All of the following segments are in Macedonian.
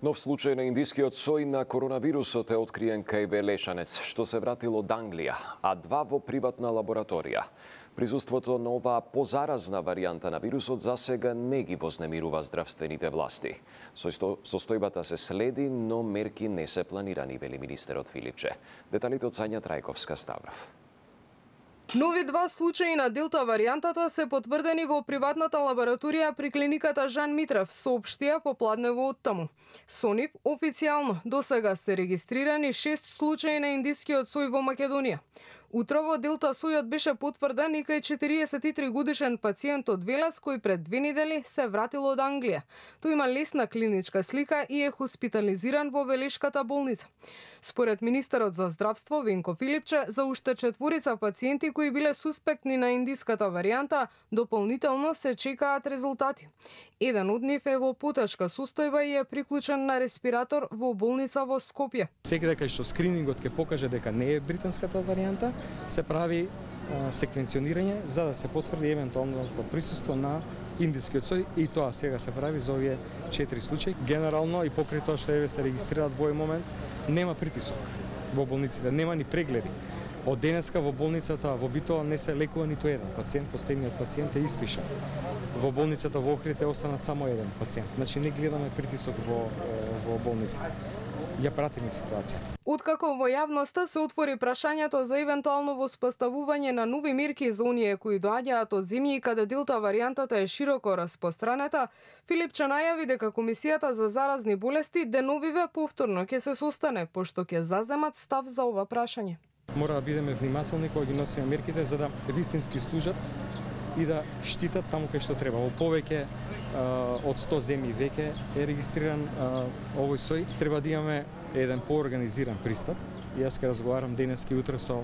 Нов случај на индискиот сој на коронавирусот е откриен кај Белешанец, што се вратил од Англија, а 2 во приватна лабораторија. Присуството на оваа позаразна варијанта на вирусот засега не ги вознемирува здравствените власти. Состојбата се следи, но мерки не се планирани, вели министерот Филипче. Деталите од Сања Трајковска-Ставров. Нови 2 случаи на делта варијантата се потврдени во приватната лабораторија при клиниката Жан Митрев, соопштија попладнево од таму. Со нив официјално досега се регистрирани 6 случаи на индискиот сој во Македонија. Утрово делта сојот беше потврден и кај 43 годишен пациент од Велес кој пред 2 недели се вратил од Англија. Тој има лесна клиничка слика и е хоспитализиран во Велешката болница. Според министерот за здравство Венко Филипче, за уште 4 пациенти кои биле суспектни на индиската варијанта, дополнително се чекаат резултати. Еден од нив е во потешка состојба и е приклучен на респиратор во болница во Скопје. Секаде кај што скринингот ќе покаже дека не е британската варијанта, се прави секвенционирање за да се потврди евентуалното присуство на индискиот сој и тоа сега се прави за овие 4 случаи. Генерално и покрај тоа што еве се регистрираат во овој момент, нема притисок во болниците, нема ни прегледи. Од денеска во болницата во Битола не се лекува ниту еден пациент, последниот пациент е испишан. Во болницата во Охрид е останат само еден пациент. Значи не гледаме притисок во болниците. Ја пратиме ситуацијата. Откако во јавноста се отвори прашањето за евентуално воспоставување на нови мерки за оние кои доаѓаат од земји каде делта варијантата е широко распостранета, Филипче најави дека Комисијата за заразни болести деновиве повторно ќе се состане, пошто ќе заземат став за ова прашање. Мора да бидеме внимателни кога ги носиме мерките за да вистински служат и да штитат таму кај што треба. Во повеќе од 100 земји веќе е регистриран овој сој. Треба да имаме еден поорганизиран пристап. Јас ќе разговарам денеска и утре со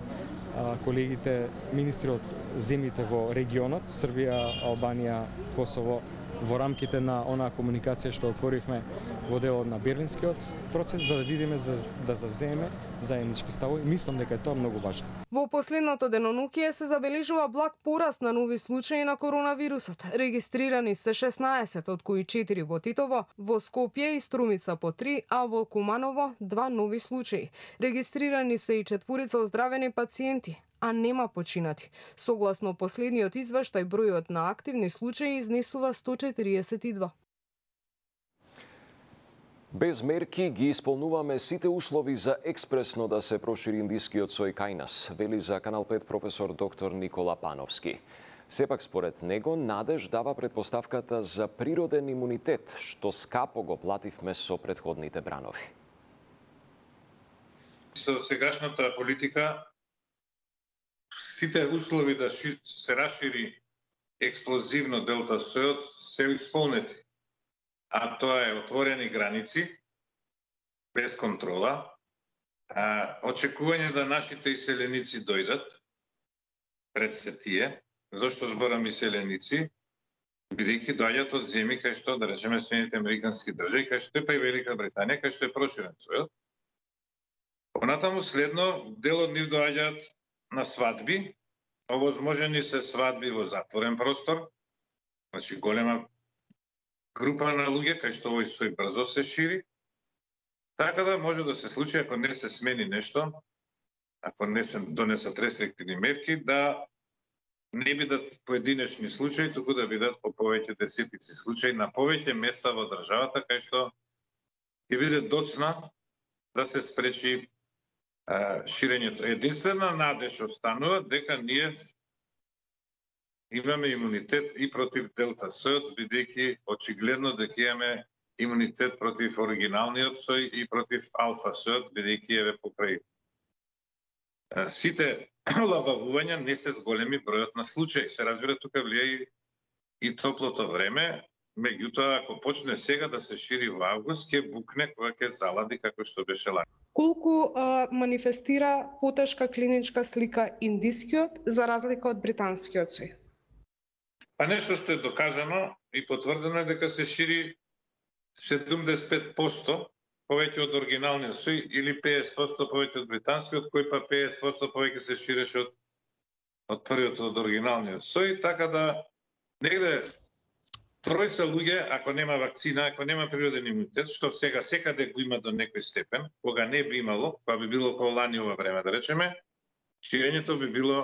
колегите министри од земјите во регионот, Србија, Албанија, Косово, во рамките на онаа комуникација што отворивме во делот на Берлинскиот процес, за да видиме да завземе заеднички ставови. Мислам дека е тоа многу важно. Во последното денонокие се забележува благ пораст на нови случаи на коронавирусот. Регистрирани се 16, од кои 4 во Титово, во Скопје и Струмица по 3, а во Куманово 2 нови случаи. Регистрирани се и 4 оздравени пациенти, а нема починати. Согласно последниот извештај, бројот на активни случаи изнесува 142. Без мерки ги исполнуваме сите услови за експресно да се прошири индискиот сој кај нас, вели за Канал 5 професор доктор Никола Пановски. Сепак според него надеж дава предпоставката за природен имунитет, што скапо го плативме со претходните бранови. Со сегашната политика сите услови да се расшири експлозивно делта сојот се исполнети. А тоа е отворени граници, без контрола, очекување да нашите иселеници дојдат, пред се тие, зашто зборам иселеници, бидејќи доаѓаат од земји кај што, да речеме, Соединените американски држави, кај што е па и Велика Британија, кај што е проширен сојот. Понатаму следно, дел од нив доаѓаат на свадби, овозможени се свадби во затворен простор, значи голема група на луѓе кај што овој сој брзо се шири, така да може да се случи, ако не се смени нешто, ако не се донесат рестриктивни мерки, да не бидат поединечни случаи, туку да бидат по повеќе десетици случаи на повеќе места во државата, кај што ќе биде доцна да се спречи ширењето. Единствена надеж останува дека ние имаме имунитет и против делта сојот, бидејќи очигледно дека имаме имунитет против оригиналниот сој и против алфа сојот, бидејќи еве покрај сите олабавувања не се зголеми бројот на случаи. Се разбира, тука влијае и топлото време, меѓутоа ако почне сега да се шири во август, ќе букне кога ќе залади како што беше лани. Колку манифестира потешка клиничка слика индискиот за разлика од британскиот сој? А нешто што е докажано и потврдено е дека се шири 75% повеќе од оригиналниот сој или 50% повеќе од британскиот, кој па 50% повеќе се ширеше од првиот од оригиналниот сој, така да негде тројца луѓе, ако нема вакцина, ако нема природен имунитет, што сега секаде го има до некој степен, кога не би имало, па би било како лани ова време, да речеме, ширењето би било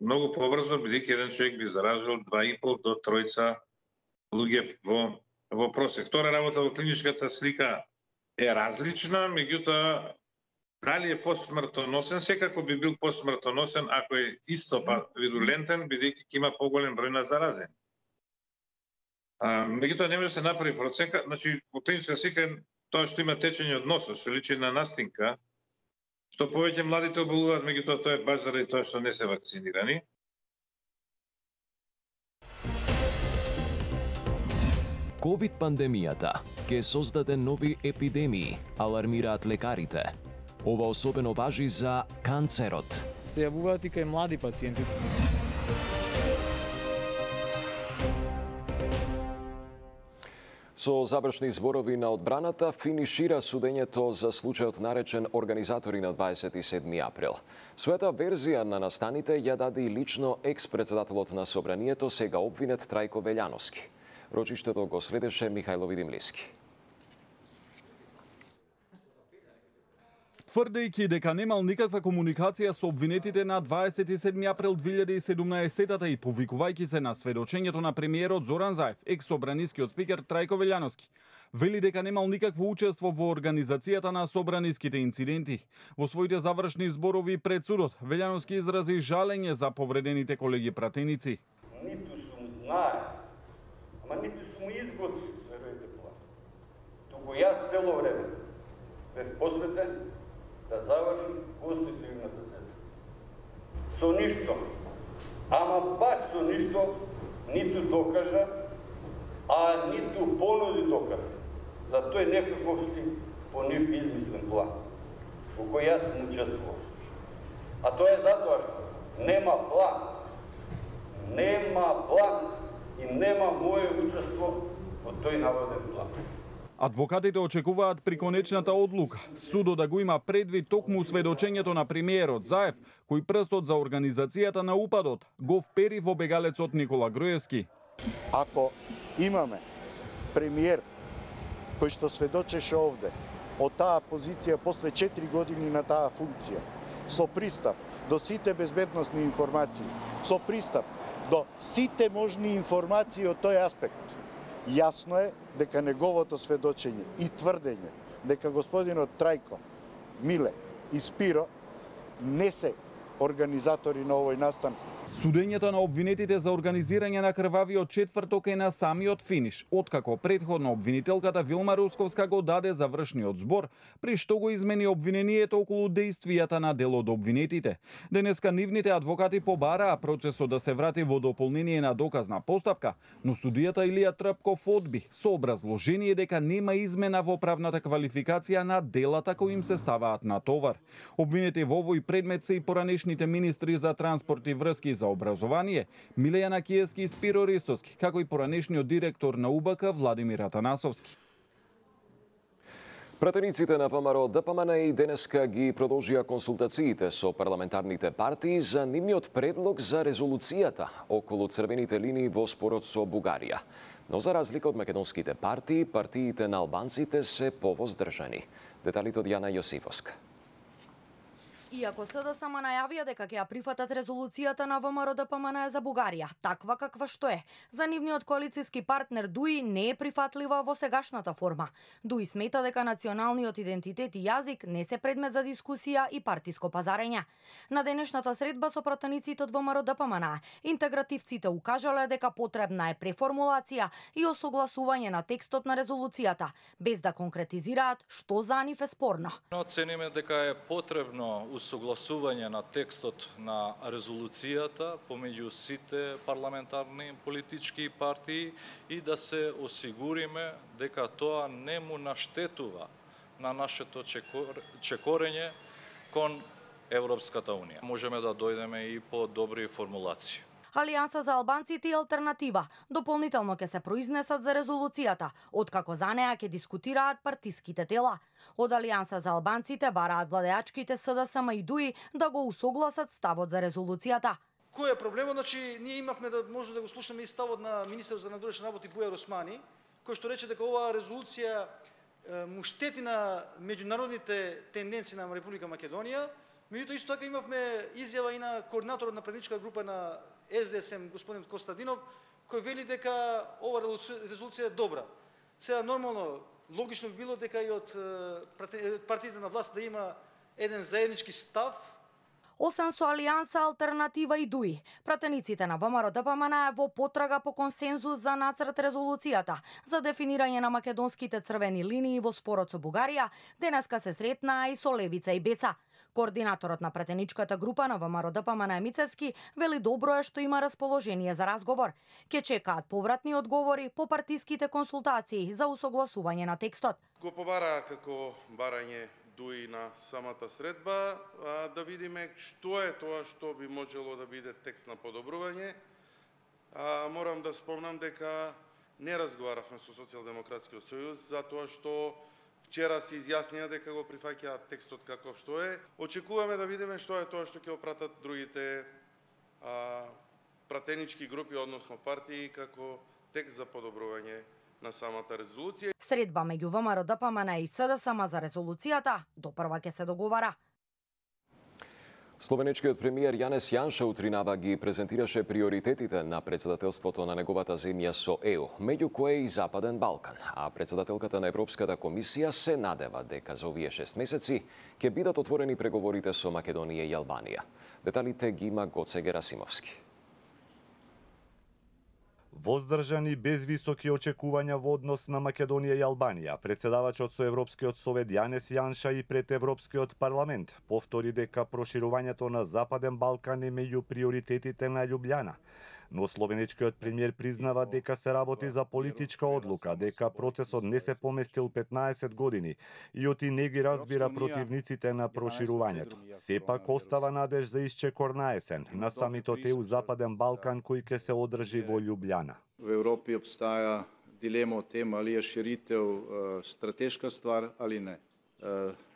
многу побрзо, бидејќи еден човек би заразил 2,5 до 3 луѓе во просек. Втора работа во клиничката слика е различна, меѓутоа дали е посмртоносен, секако би бил посмртоносен ако е исто вирулентен, бидејќи има поголем број на заразени. Меѓутоа не може да се направи проценка, значи во клиничка слика тоа што има течење од носот, што личи на настинка, што повеќе младите оболуваат, меѓутоа тоа е баш заради тоа што не се вакцинирани. Ковид-пандемијата ќе создаде нови епидемии, алармираат лекарите. Ова особено важи за канцерот. Се јавуваат и кај млади пациенти. Со завршни зборови на одбраната финишира судењето за случајот наречен организатори на 27 април. Својата верзија на настаните ја даде и лично екс-председателот на Собранието, сега обвинет Трајко Велјановски. Рочиштето го следеше Михајло Видимлиски. Тврдејќи дека немал никаква комуникација со обвинетите на 27 април 2017 и повикувајќи се на сведочењето на премиерот Зоран Заев, екс-собранискиот спикер Трајко Велјановски, вели дека немал никакво учество во организацијата на собраниските инциденти. Во своите завршни зборови пред судот, Велјановски изрази жалење за повредените колеги пратеници. Ниту сум знае, ама ниту сум изготвил, верујте това. Туку јас цело време бев посветен да заврши конститутивната седмица. Со ништо, ама баш со ништо, ниту докажа, а ниту понуди доказ. За тој некаков си по нив измислен план, во кој јас сум учествувал. А тоа е затоа што нема план и нема моје учество во тој наводен план. Адвокатите очекуваат при конечната одлука судот да го има предвид токму сведочењето на премиерот Заев, кој прстот за организацијата на упадот го впери во бегалецот Никола Груевски. Ако имаме премиер кој што сведочеше овде од таа позиција после 4 години на таа функција, со пристап до сите безбедносни информации, со пристап до сите можни информации од тој аспект, јасно е дека неговото сведочење и тврдење дека господинот Трајко, Миле и Спиро не се организатори на овој настан. Судењето на обвинетите за организирање на крвавиот четврток е на самиот финиш, откако претходно обвинителката Вилма Русковска го даде завршниот збор, при што го измени обвинението околу дејствијата на дел од обвинетите. Денеска нивните адвокати побараа процесот да се врати во дополнение на доказна постапка, но судијата Илија Трпков одби со образложение дека нема измена во правната квалификација на делата кои им се ставаат на товар. Обвинети во овој предмет се и поранешните министри за транспорт и врски за образование, Милејана Киевски и Спиро Ристовски, како и поранешниот директор на УБК Владимир Атанасовски. Пратениците на ВМРО ДПМН и денеска ги продолжија консултациите со парламентарните партии за нивниот предлог за резолуцијата околу црвените линии во спорот со Бугарија. Но за разлика од македонските партии, партиите на албанците се повоздржани. Деталите од Јана Јосифовска. Иако СДСМ најавија дека ќе ја прифатат резолуцијата на ВМРО ДПМН за Бугарија, таква каква што е, за нивниот коалициски партнер ДУИ не е прифатлива во сегашната форма. ДУИ смета дека националниот идентитет и јазик не се предмет за дискусија и партиско пазарење. На денешната средба со пратениците од ВМРО ДПМН, интегративците укажале дека потребна е преформулација и осогласување на текстот на резолуцијата, без да конкретизираат што за нив е спорно. Оцениме дека е потребно усогласување на текстот на резолуцијата помеѓу сите парламентарни политички партии и да се осигуриме дека тоа не му наштетува на нашето чекорење кон Европската Унија. Можеме да дојдеме и по добри формулации. Алијанса за албанците и алтернатива дополнително ќе се произнесат за резолуцијата, откако за неа ќе дискутираат партиските тела. Од Алијанса за албанците бараат владеачките СДСМ и ДУИ да го усогласат ставот за резолуцијата. Кој е проблемот? Значи, ние имавме да може да го слушаме и ставот на министерот за надворешни работи Бујар Османи, кој што рече дека оваа резолуција му штети на меѓународните тенденции на Република Македонија. Меѓутоа исто така имавме изјава и на координаторот на предsedничка група на СДСМ, господин Костадинов, кој вели дека ова резолуција е добра. Сега нормално, логично би било дека и од партиите на власт да има еден заеднички став. Освен со Алијанса, Алтернатива и ДУИ, пратениците на ВМРО-ДПМН во потрага по консензус за нацрт резолуцијата за дефинирање на македонските црвени линии во спорот со Бугарија, денеска се сретнаа и со Левица и Беса. Координаторот на пратеничката група на ВМРО-ДПМН Мицевски вели добро е што има расположение за разговор. Ке чекаат повратни одговори по партиските консултации за усогласување на текстот. Го побара како барање ДУИ на самата средба, да видиме што е тоа што би можело да биде текст на подобрување. Морам да спомнам дека не разговаравме со Социјалдемократскиот сојуз, затоа што вчера се изјаснија дека го прифаќаат текстот каков што е. Очекуваме да видиме што е тоа што ќе го пратат другите пратенички групи, односно партии, како текст за подобрување на самата резолуција. Средба меѓу ВМРО-ДПМН и СДСМ за резолуцијата допрва ќе се договара. Словенечкиот премиер Јанес Јанша утринава ги презентираше приоритетите на председателството на неговата земја со ЕУ, меѓу кои и Западен Балкан, а председателката на Европската комисија се надева дека за овие 6 месеци ќе бидат отворени преговорите со Македонија и Албанија. Деталите ги има Гоце Герасимовски. Воздржани без високи очекувања во однос на Македонија и Албанија, председавачот со Европскиот совет Јанес Јанша и пред Европскиот парламент повтори дека проширувањето на Западен Балкан е меѓу приоритетите на Љубљана. Но словенечкиот премиер признава дека се работи за политичка одлука, дека процесот не се поместил 15 години и оти не ги разбира противниците на проширувањето. Сепак остава надеж за исчекор на есен на самитот ЕУ Западен Балкан кој ќе се одржи во Љубљана. В Европи обстаја дилема о тем али е ширител стратешка ствар али не.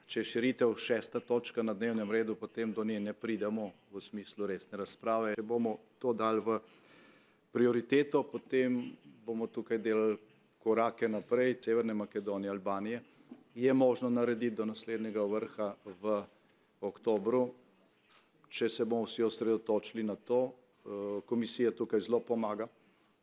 Че е ширител 6-та точка на дневнем реду, потем до неја не придамо во смислу ресне расправе. Ќе бомо то дали во приоритето, потем бомо тука делали кораке напред, Северна Македонија, Албанија. И е можно наредити до наследнега врха в октобру, че се бомо си осредоточили на то. Комисија тука зло помага,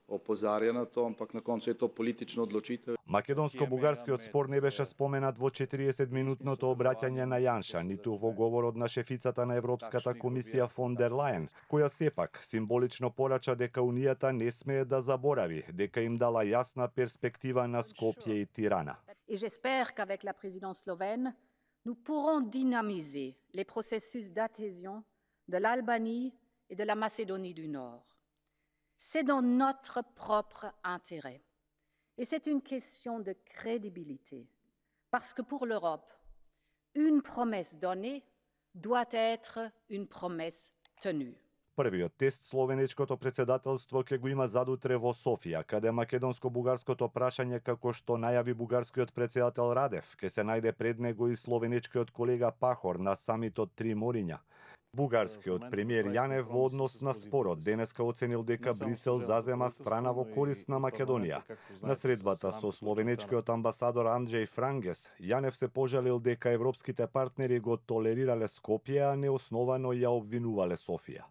опозарја на тоа, ампак на концу е тоа политично одлучител. Македонско-бугарскиот спор не беше споменат во 40-минутното обраќање на Јанша, ниту во говорот на шефицата на Европската комисија фон дер Лајен, која сепак символично порача дека Унијата не смее да заборави, дека им дала јасна перспектива на Скопје и Тирана. Et j'espère qu'avec la présidence slovène, nous pourrons dynamiser les processus d'adhésion de l'Albanie et de la Macédonie du Nord. C'est dans notre propre intérêt. Et c'est une question de crédibilité. Parce que pour l'Europe, une promesse donnée doit être une promesse tenue. Првиот тест словенечкото председателство ќе го има задутре во Софија, каде македонско-бугарското прашање, како што најави бугарскиот председател Радев, ќе се најде пред него и словенечкиот колега Пахор на самитот Три мориња. Бугарскиот премиер Јанев во однос на спорот денеска оценил дека Брисел зазема страна во корист на Македонија. На средбата со словенечкиот амбасадор Анджеј Франгес, Јанев се пожалил дека европските партнери го толерирале Скопје, а неосновано ја обвинувале Софија.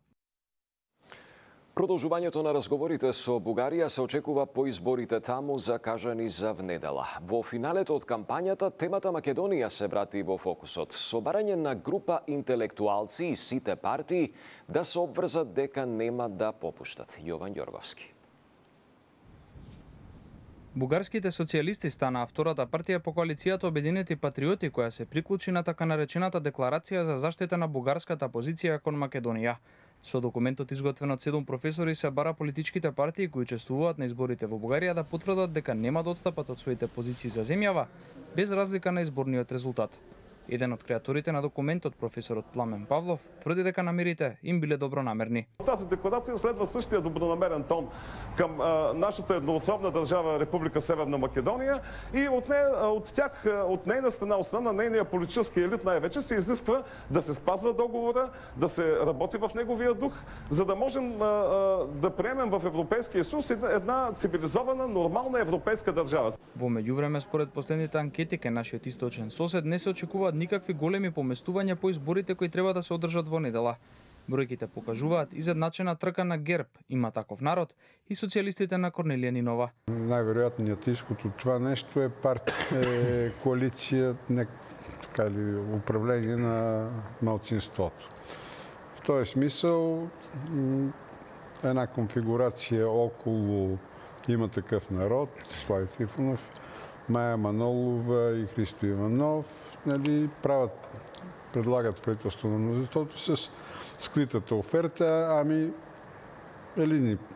Продолжувањето на разговорите со Бугарија се очекува по изборите таму закажани за внедела. Во финалето од кампањата, темата Македонија се врати во фокусот, со барање на група интелектуалци и сите партии да се обврзат дека нема да попуштат. Јован Ѓорговски. Бугарските социјалисти станаа втората партија по коалицијата Обединети патриоти која се приклучи на така наречената декларација за заштита на бугарската позиција кон Македонија. Со документот изготвен од 7 професори се бара политичките партии кои учествуваат на изборите во Бугарија да потврдат дека нема да отстапат од своите позиции за земјава, без разлика на изборниот резултат. Еден од креаторите на документот, професорот Пламен Павлов, тврди дека намерите им биле добронамерни. Тази декларација следва същия добронамерен тон към нашата едноотробна држава Република Северна Македонија и от нейна страна, от страна на нейния политически елит най-вече се изисква да се спазва договора, да се работи в неговия дух, за да можем да приемем в Европейския съюз една цивилизована, нормална европейска држава. Во меѓувреме, според последните анкети кај нашиот источен сосед, не се очекуваат никакви големи поместувања по изборите кои треба да се одржат во недела. Бројките покажуваат изедначена трка на ГЕРБ, Има таков народ, и социјалистите на Корнелија Нинова. Најверојатниот ишход од това нешто е коалиција, така или управление на малцинството. В тој смисъл една конфигурација околу Има такъв народ, Слави Трифонов, Маја Манолова и Христо Иванов, предлагат правителство на мнозинството с скритата оферта,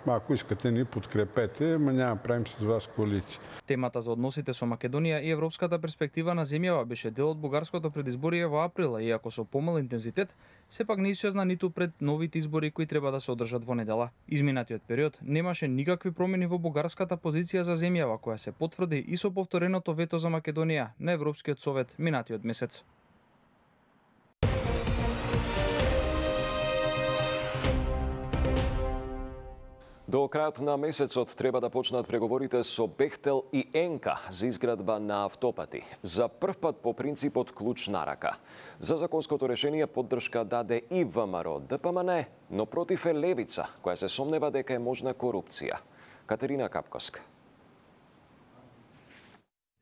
ако искате ни подкрепете, няма правим с вас коалиција. Темата за односите со Македонија и европската перспектива на земјава беше дел од бугарското предизборие во април, иако со помал интензитет, сепак не исчезна ниту пред новите избори кои треба да се одржат во недела. Изминатиот период немаше никакви промени во бугарската позиција за земјава, која се потврди и со повтореното вето за Македонија на Европскиот совет минатиот месец. До крајот на месецот треба да почнат преговорите со Бехтел и Енка за изградба на автопати. За прв пат по принципот клуч на рака. За законското решение поддршка даде и ВМРО ДПМН, но против е Левица, која се сомнева дека е можна корупција. Катерина Капковска.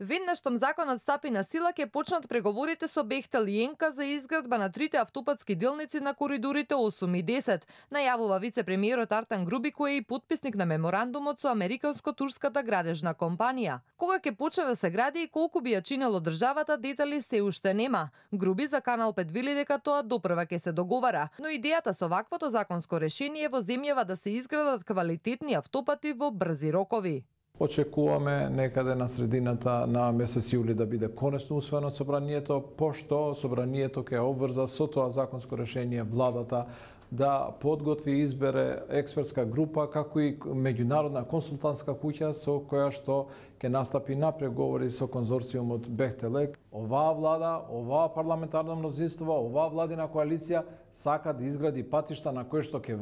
Веднаш штом законот стапи на сила, ќе почнат преговорите со Бехтел и Енка за изградба на трите автопатски делници на коридорите 8 и 10, најавува вице-премиерот Артан Груби, кој е и потписник на меморандумот со американско-турската градежна компанија. Кога ќе почне да се гради и колку би ја чинело државата, детали се уште нема. Груби за Канал 5 вели дека тоа допрва ќе се договара, но идејата со ваквото законско решение во земјава да се изградат квалитетни автопати во брзи рокови. Очекуваме некаде на средината на месец јули да биде конечно усвоено собранието, пошто собранието ќе обврза со тоа законско решение владата да подготви и избере експертска група, како и меѓународна консултантска куќа со која што ќе настапи на преговори со конзорциумот Бехтелек. Оваа влада, оваа парламентарно мнозинство, оваа владина коалиција сака да изгради патишта на кои што ќе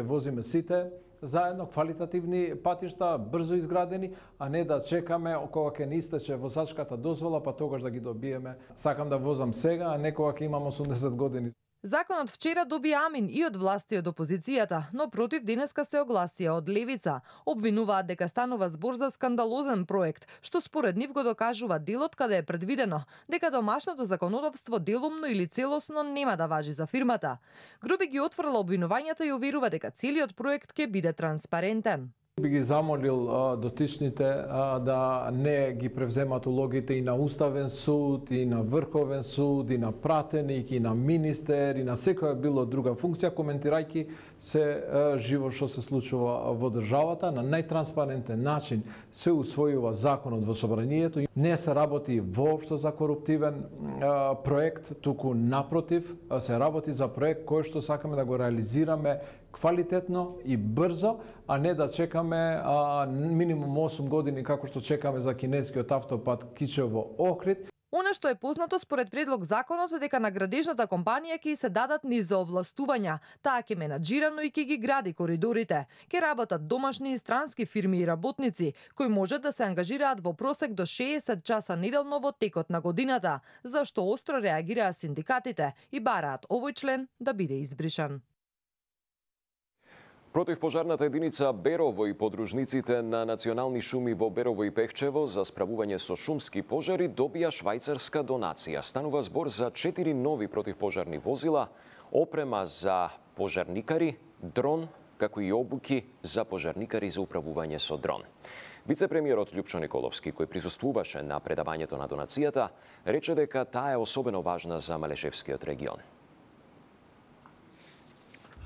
возиме сите заедно, квалитативни патишта, брзо изградени, а не да чекаме кога ќе ни истече возачката дозвола, па тогаш да ги добиеме. Сакам да возам сега, а не кога ќе имам 80 години. Законот вчера доби амин и од власти и од опозицијата, но против денеска се огласија од Левица. Обвинуваат дека станува збор за скандалозен проект, што според нив го докажува делот каде е предвидено дека домашното законодавство делумно или целосно нема да важи за фирмата. Груби ги отфрла обвинувањата и уверува дека целиот проект ќе биде транспарентен. Би ги замолил дотичните да не ги превземат улогите и на Уставен суд, и на Врховен суд, и на пратеник, и на министер, и на секоја било друга функција, коментирајќи се живо што се случува во државата. На најтранспарентен начин се усвојува законот во собранието. Не се работи воопшто за коруптивен проект, туку напротив, се работи за проект кој што сакаме да го реализираме квалитетно и брзо, а не да чекаме минимум 8 години како што чекаме за кинескиот автопат Кичево-Охрид. Она што е познато според предлог законот е дека на градежната компанија ќе се дадат низ за овластувања. Таа ќе менаџирано и ќе ги гради коридорите. Ќе работат домашни и странски фирми и работници, кои можат да се ангажираат во просек до 60 часа неделно во текот на годината, за што остро реагираа синдикатите и бараат овој член да биде избришан. Противпожарната единица Берово и подружниците на национални шуми во Берово и Пехчево за справување со шумски пожари добија швајцарска донација. Станува збор за 4 нови противпожарни возила, опрема за пожарникари, дрон, како и обуки за пожарникари за управување со дрон. Вице-премиерот Љупчо Николовски, кој присуствуваше на предавањето на донацијата, рече дека таа е особено важна за Малешевскиот регион.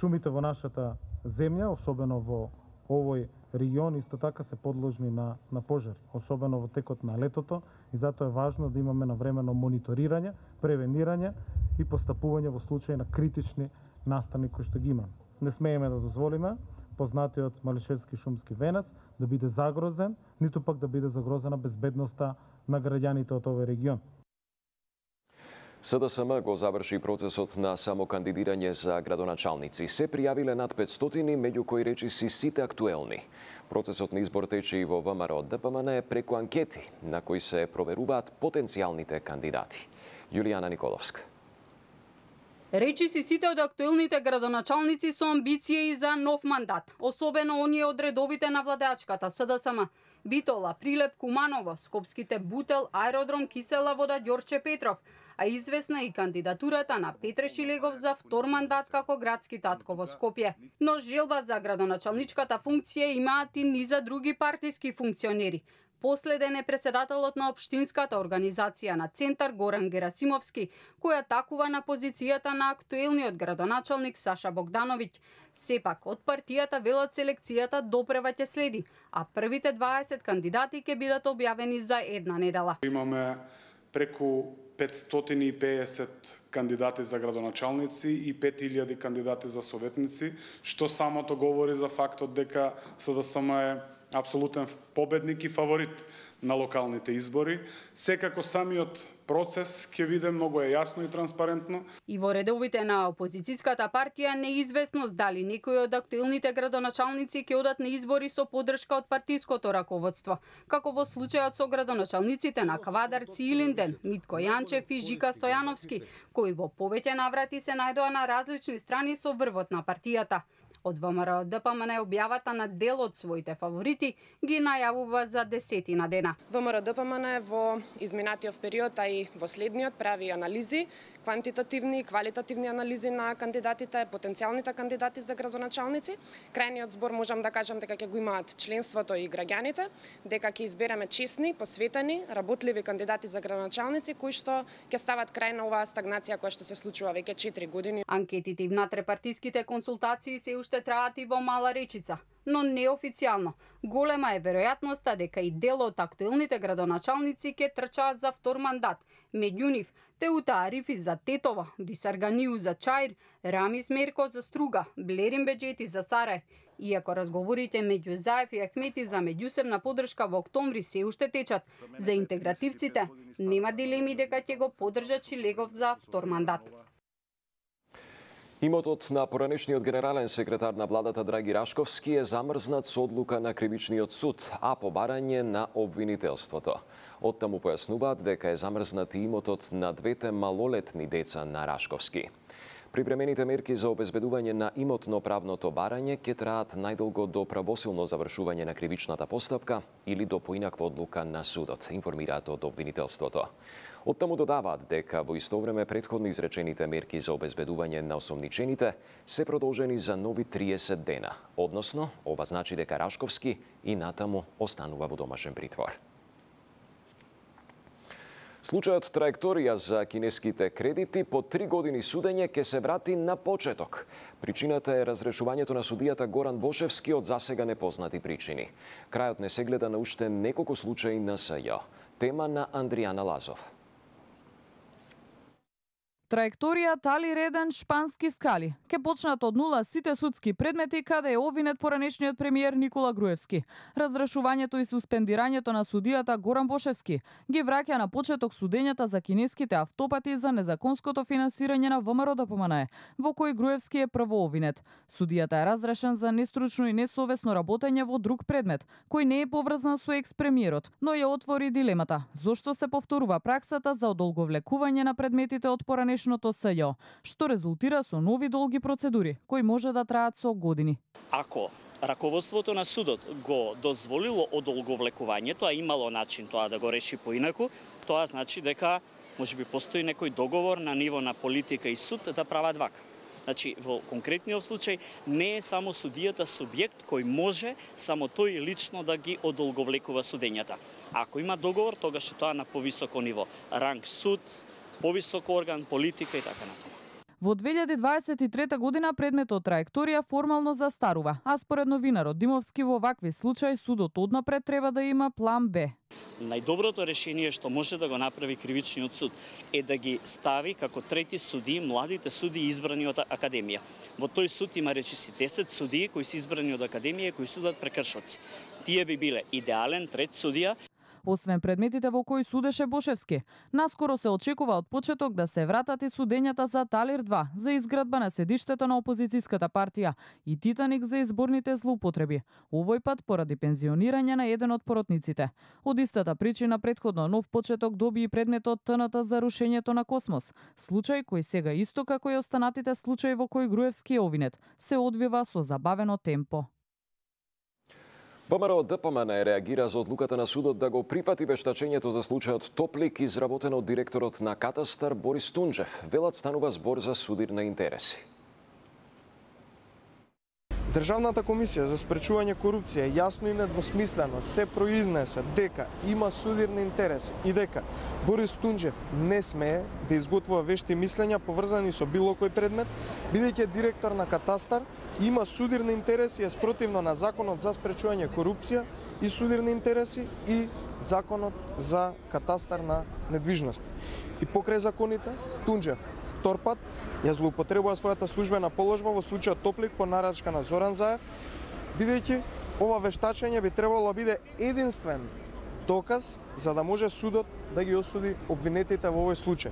Шумите во нашата земја, особено во овој регион исто така се подложни на пожари, особено во текот на летото, и затоа е важно да имаме навремено мониторирање, превенирање и постапување во случај на критични настани кои што ги имаме. Не смееме да дозволиме познатиот Малишевски шумски венец да биде загрозен, ниту пак да биде загрозена безбедноста на граѓаните од овој регион. СДСМ го заврши процесот на самокандидирање за градоначалници. Се пријавиле над 500, меѓу кои речиси сите актуелни. Процесот на избор тече и во ВМРО ДПМН преку анкети, на кои се проверуваат потенцијалните кандидати. Јулијана Николовска. Речиси сите од актуелните градоначалници со амбиции за нов мандат, особено оние од редовите на владеачката СДСМ. Битола, Прилеп, Куманово, Скопските Бутел, Аеродром Кисела Вода, Ѓорче Петров, а известна и кандидатурата на Петре Шилегов за втор мандат како градски татко во Скопје. Но желба за градоначалничката функција имаат и низа други партиски функционери. Последен е председателот на општинската организација на Центар Горан Герасимовски, која такува на позицијата на актуелниот градоначалник Саша Богдановиќ. Сепак, од партијата велат селекцијата допрева ќе следи, а првите 20 кандидати ќе бидат објавени за една недела. Имаме преку 550 кандидати за градоначалници и 5000 кандидати за советници, што самото говори за фактот дека СДСМ е апсолутен победник и фаворит на локалните избори. Секако самиот процес ќе биде многу јасно и транспарентно. И во редовите на опозицијската партија неизвестност дали некои од актуелните градоначалници ќе одат на избори со поддршка од партиското раководство, како во случајот со градоначалниците на Квадарци и Илинден, Митко Јанчев и Жика Стојановски, кои во повеќе наврати се најдоа на различни страни со врвот на партијата. Од ВМРО ДПМН објавата на дел од своите фаворити ги најавува за 10 дена. ВМРО ДПМН во изминатиот период, а и во следниот прави анализи, квантитативни и квалитативни анализи на кандидатите, потенцијалните кандидати за градоначалници. Крајниот збор можам да кажам дека ќе го имаат членството и граѓаните, дека ќе избереме честни, посветени, работливи кандидати за градоначалници кои што ќе стават крај на оваа стагнација која што се случува веќе 4 години. Анкетите и внатрепартиските консултации се уште траат и во Мала Речица, но неофицијално. Голема е веројатноста дека и дел од актуелните градоначалници ќе трчаат за втор мандат. Меѓу нив Теута Арифи за Тетово, Висарганиу за Чаир, Рамис Мерко за Струга, Блерин Беџети за Сарај. Иако разговорите меѓу Заев и Ахмети за меѓусебна поддршка во октомври се уште течат, за интегративците нема дилеми дека ќе го поддржат Шилегов за втор мандат. Имотот на поранешниот генерален секретар на владата Драги Рашковски е замрзнат со одлука на кривичниот суд, а по барање на обвинителството. Оттаму појаснуваат дека е замрзнат и имотот на двете малолетни деца на Рашковски. Припремените мерки за обезбедување на имотно-правното барање ќе траат најдолго до правосилно завршување на кривичната постапка или до поинаква одлука на судот, информираат од обвинителството. Оттаму додаваат дека во исто време претходно изречените мерки за обезбедување на осомничените се продолжени за нови 30 дена, односно ова значи дека Рашковски и натаму останува во домашен притвор. Случајот траекторија за кинеските кредити по 3 години судење ќе се врати на почеток. Причината е разрешувањето на судијата Горан Бошевски од засега непознати причини. Крајот не се гледа на уште неколку случаи на СЈ. Тема на Андријана Лазов. Траекторија Тали Реден Шпански скали. Ке почнат од нула сите судски предмети каде е овинет поранешниот премиер Никола Груевски. Разрешувањето и суспендирањето на судијата Горан Бошевски ги враќа на почеток судењата за кинеските автопати за незаконското финансирање на ВМРО ДПМН, во кој Груевски е прво овинет. Судијата е разрешен за нестручно и несовесно работење во друг предмет, кој не е поврзан со екс-премиерот, но ја отвори дилемата: зошто се повторува праксата за одолговлекување на предметите од поранешниот СЈ, што резултира со нови долги процедури, кои може да траат со години. Ако раководството на судот го дозволило одолговлекувањето, а имало начин тоа да го реши поинаку, тоа значи дека можеби постои некој договор на ниво на политика и суд да прават вака. Значи, во конкретниот случај не е само судијата субјект кој може само тој лично да ги одолговлекува судењата. Ако има договор, тогаш е тоа на повисоко ниво. Ранг суд, повисок орган, политика и така натаму. Во 2023 година предметот траекторија формално застарува, а според новинарот Димовски во вакви случаи судот однапред треба да има план Б. Најдоброто решение што може да го направи кривичниот суд е да ги стави како трети судии младите судии избрани од академија. Во тој суд има речиси 10 судии кои се избрани од академија кои судат прекршоци. Тие би биле идеален трет судија. Освен предметите во кои судеше Бошевски, наскоро се очекува од почеток да се вратат и судењата за Талир 2, за изградба на седиштето на опозицијската партија и Титаник за изборните злоупотреби, овој пат поради пензионирање на еден од поротниците. Од истата причина претходно нов почеток доби и предметот ТНТ за рушењето на Космос, случај кој сега исто како и останатите случаи во кои Груевски е обвинет, се одвива со забавено темпо. ВМРО ДПМН реагира за одлуката на судот да го прифати вештачењето за случајот Топлик изработено од директорот на Катастар Борис Тунџев. Велат станува збор за судир на интереси. Државната комисија за спречување корупција јасно и недвосмислено се произнесе дека има судирни интереси и дека Борис Тунџев не смее да изготвува вешти мислења поврзани со било кој предмет, бидејќи директор на Катастар, има судирни интереси спротивно на Законот за спречување корупција и судирни интереси и Законот за Катастар на недвижности. И покрај законите, Тунџев втор пат ја злоупотребува својата службена положба во случајот Топлик по нарачка на Зоран Заев, бидејќи ова вештачење би требало да биде единствен доказ за да може судот да ги осуди обвинетите во овој случај.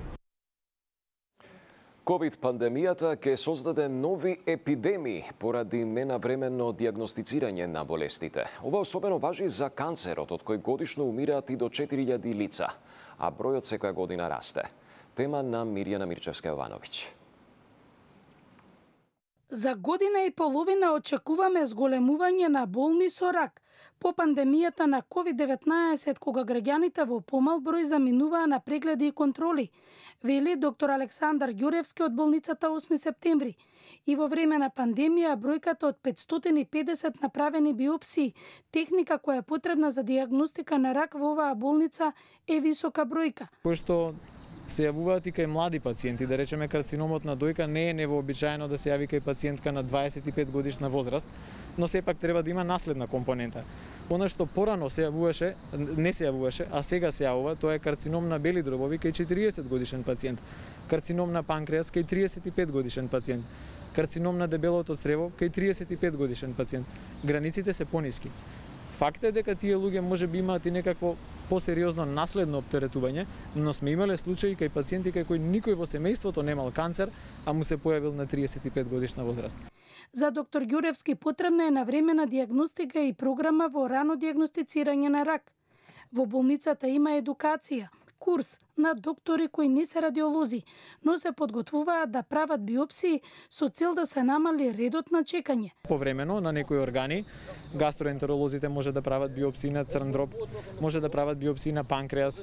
Ковид пандемијата ќе создаде нови епидемии поради ненавременно диагностицирање на болестите. Ова особено важи за канцерот, од кој годишно умираат и до 4000 лица, а бројот секоја година расте. Тема на Мирјана Мирчевска-Јовановиќ. За година и половина очекуваме зголемување на болни со рак по пандемијата на COVID-19, кога граѓаните во помал број заминуваа на прегледи и контроли, вели доктор Александар Ѓуревски од болницата 8 септември. И во време на пандемија бројката од 550 направени биопсии, техника која е потребна за диагностика на рак во оваа болница, е висока бројка. Пошто се јавуваат и кај млади пациенти, да речеме карциномот на дојка не е невообичаено да се јави кај пациентка на 25 годишна возраст, но сепак треба да има наследна компонента. Она што порано се јавуваше, не се јавуваше, а сега се јавува, тоа е карцином на бели дробови кај 40 годишен пациент, карцином на панкреас кај 35 годишен пациент, карцином на дебелото црево кај 35 годишен пациент. Границите се пониски. Факт е дека тие луѓе може би имаат и некакво посериозно наследно оптеретување, но сме имале случаи кај пациенти кај кои никој во семејството немал канцер, а му се појавил на 35 годишна возраст. За доктор Ѓуревски потребна е навремена диагностика и програма во рано диагностицирање на рак. Во болницата има едукација, курс на доктори кои не се радиолози, но се подготвуваат да прават биопсии со цел да се намали редот на чекање. Повремено на некои органи, гастроентеролозите може да прават биопсии на црн дроб, може да прават биопсии на панкреас,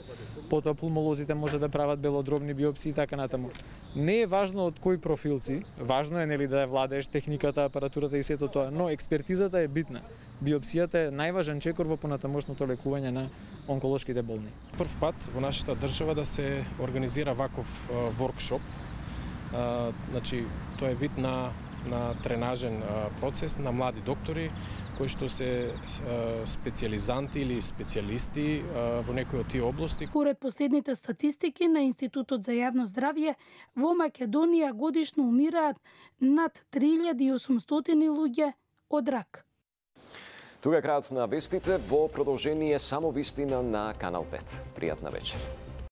потоа пулмолозите може да прават белодробни биопсии и така натаму. Не е важно од кој профил си, важно е нели да ја владееш техниката, апаратурата и сето тоа, но експертизата е битна. Биопсијата е најважен чекор во понатамошното лекување на онколошките болни. Прв пат во нашата држава да се организира ваков воркшоп. Значи, тоа е вид на тренажен процес на млади доктори кои што се специјализанти или специјалисти во некои од тие области. Поред последните статистики на Институтот за јавно здравје, во Македонија годишно умираат над 3800 луѓе од рак. Тука е крајот на вестите, во продолжение само вистина на Канал 5. Пријатна вечер.